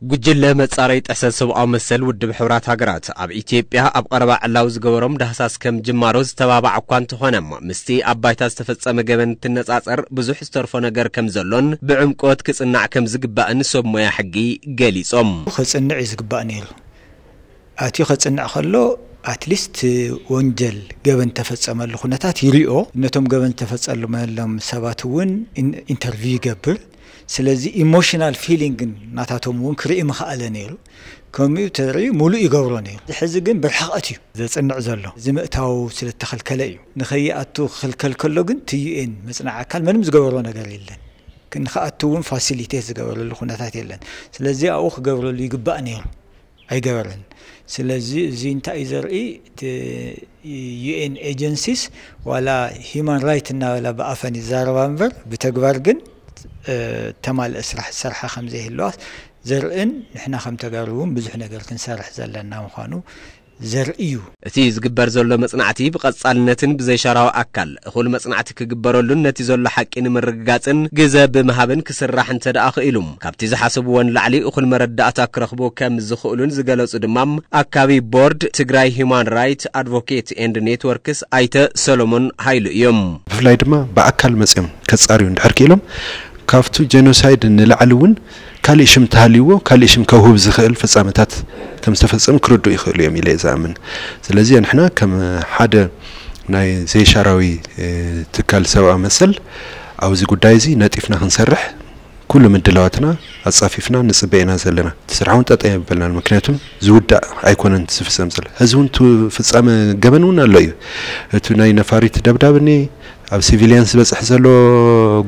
ጉጅለ መጻረይ ጥሕሰት ሰብኣዊ መሰል ውድብ ሕቡራት ሃገራት ኣብ ኢትዮጵያ ኣብ ቀረባ ዕላዊ ዝገበሮም ዳህሳስ ከም ጅማሮ ዝተባባዕ እኳ እንተኾነ፣ ምስቲ ኣብ ባይታ ዝተፈጸመ ገበን እንትነጻጸር ብዙሕ ዝተርፎ ነገር ከም ዘሎን ብዕምቆት ክጽናዕ ከም ዝግባእን ሰብ ሞያ ሕጊ ገሊጾም። ከጽንዕ እዩ ዝግባእ ነይሩ። ኣትዩ ከጽንዕ ከሎ ኣትሊስት ወንጀል ገበን ተፈጸመሉ ኩነታት ይሪኦ፣ ነቶም ገበን ዝተፈጸመሎም ሰባት እውን ኢንተርቪው ይገብር። ስለዚ ኢሞሽናል ፊሊንግን ናታቶም እውን ክርኢ ምኽኣለ ነይሩ። ከምኡ ተሪኡ ሙሉእ ይገብሮ ነይሩ። ሕዚ ግን ብርሕቐት እዩ ዘጽንዕ ዘሎ። እዚ ምእታው ስለተኸልከለ እዩ። ንኸይኣቱ ክኽልከል ከሎ ግን እቲ ዩኤን መጽናዕ ኣካል ምንም ዝገበሮ ነገር የለን። ንኽኣቱ እውን ፋሲሊቴት ዝገበረሉ ኩነታት የለን። ስለዚ ኣብኡ ክገብረሉ ይግባእ ነይሩ፣ ኣይገበረን። ስለዚ እዚ እንታይ እዩ ዘርኢ? እቲ ዩኤን ኤጀንሲስ ዋላ ሂማን ራይት እናበላ ብኣፈን ይዛረባ እምበር ብተግባር ግን ተማልአ ስራሕ ዝሰርሓ ከም ዘይህለዋ ዘርእን ንሕና ከም ተጋሩ እውን ብዙሕ ነገር ክንሰርሕ ዘለና ምዃኑ ዘርኢ እዩ። እቲ ዝግበር ዘሎ መጽናዕቲ ብቐጻልነትን ብዘይሻራዊ ኣካል እኹል መጽናዕቲ ክግበረሉን ነቲ ዘሎ ሓቂ ንምርግጋጽን ግዘ ብምሃብን ክስራሕ እንተ ደኣ ክኢሉ፣ ካብቲ ዝሓሰብዎ ንላዕሊ እኹል መረዳእታ ክረኽቡ ከም ዝኽእሉን ዝገለጹ ድማ ኣካቢ ቦርድ ትግራይ ሂውማን ራይት ኣድቮኬት ኤንድ ኔትወርክስ ኣይተ ሰሎሞን ሃይሉ እዮም። ብፍላይ ድማ ብኣካል መጺኦም ከጻርዩ እንድሕር ክኢሎም ካብቱ ጀኖሳይድ ንላዕሊ እውን ካሊእ ሽም ተሃልይዎ ካሊእ ሽም ከውህብ ዝኽእል ፍጻመታት ከም ዝተፈጸሙ ክርድኡ ይኽእሉ እዮም ኢለ እየ ዝኣምን። ስለዚ ንሕና ከም ሓደ ናይ ዘይሻራዊ ትካል ሰብኣዊ መሰል ኣብዚ ጉዳይ እዚ ነጢፍና ክንሰርሕ ኩሉ ምድላዋትና ኣጻፊፍና ንጽበ ኢና ዘለና። እቲ ስራሕ እውን ጠጠ የብልናን፣ ምክንያቱ ዝውዳእ ኣይኮነን ዝፍጸም ዘሎ። ሕዚ እውን ፍጻመ ገበን እውን ኣሎ እዩ። እቲ ናይ ነፋሪት ደብዳብ እኒ ኣብ ሲቪልያን ዝበፅሕ ዘሎ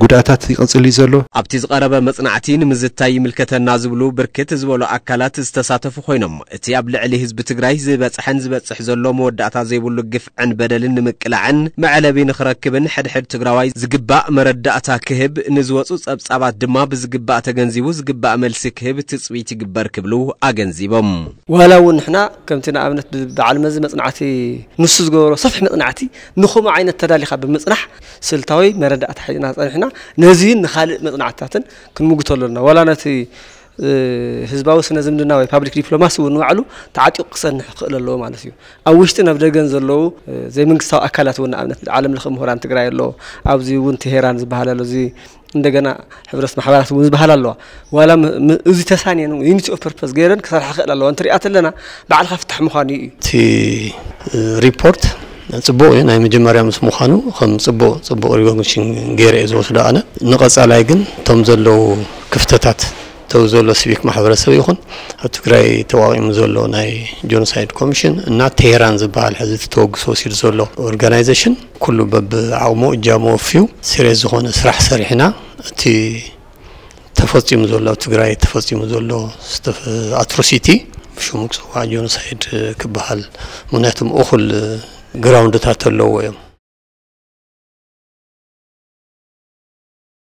ጉድኣታት ይቐፅል እዩ ዘሎ። ኣብቲ ዝቐረበ መፅናዕቲ ንምዝታይ ይምልከተና ዝብሉ ብርክት ዝበሉ ኣካላት ዝተሳተፉ ኮይኖም፣ እቲ ኣብ ልዕሊ ህዝቢ ትግራይ ዝበፅሐን ዝበፅሕ ዘሎ መወዳእታ ዘይብሉ ግፍዕን በደልን ንምቅላዕን መዕለቢ ንኽረክብን ሕድሕድ ትግራዋይ ዝግባእ መረዳእታ ክህብ፣ ንዝወፁ ፀብፃባት ድማ ብዝግባእ ተገንዚቡ ዝግባእ መልሲ ክህብ ትፅቢት ይግበር ክብሉ ኣገንዚቦም። ዋላ እውን ንሕና ከምቲ ንኣብነት ብዓል መዚ መፅናዕቲ ንሱ ዝገበሮ ሰፊሕ መፅናዕቲ ንኸምኡ ዓይነት ተዳሊኻ ብምፅናሕ ስልታዊ መረዳእታ ሒዝና ፀኒሕና ነዚን ንኻልእ መፅናዕትታትን ክንምጉቶ ኣለና። ዋላ ነቲ ህዝባዊ ስነ ዝምድና ወይ ፓብሊክ ዲፕሎማሲ እውን ንባዕሉ ተዓጢቑ ክፀንሕ ክኽእል ኣለዎ ማለት እዩ። ኣብ ውሽጥን ኣብ ደገን ዘለዉ ዘይመንግስታዊ ኣካላት እውን ንኣብነት ዓለም ለኸ ምሁራን ትግራይ ኣሎ፣ ኣብዚ እውን ቴሄራን ዝበሃል ኣሎ፣ እዚ እንደገና ሕብረት ማሕበራት እውን ዝበሃል ኣለዋ። ዋላ እዚ ተሳንየን ዩኒቲ ኦፍ ፐርፐስ ገይረን ክሰርሓ ክእል ኣለዋ እንትሪኣ ተለና ባዕልካ ፍታሕ ምዃኑ እዩ። እቲ ሪፖርት ፅቡቕ እዩ፣ ናይ መጀመርያ ምስ ምዃኑ ከም ፅቡቕ ፅቡቕ ሪኮግኒሽን ገይረ እየ ዝወስዶ ኣነ። ንቐፃላይ ግን እቶም ዘለዉ ክፍተታት ተው ዘሎ ሲቪክ ማሕበረሰብ ይኹን ኣብ ትግራይ ተቋቂሙ ዘሎ ናይ ጆኖሳይድ ኮሚሽን እና ቴሄራን ዝበሃል ሕዚ እቲ ተወግሶ ወሲዱ ዘሎ ኦርጋናይዜሽን ኩሉ በብዓቕሙ እጃሙ ወፍዩ ሲሪየስ ዝኾነ ስራሕ ሰሪሕና እቲ ተፈፂሙ ዘሎ ኣብ ትግራይ ተፈፂሙ ዘሎ ኣትሮሲቲ ብሽሙ ክፅዋዕ ጆኖሳይድ ክበሃል ምክንያቱም እኹል ግራውንድታት ኣለዎ እዮም።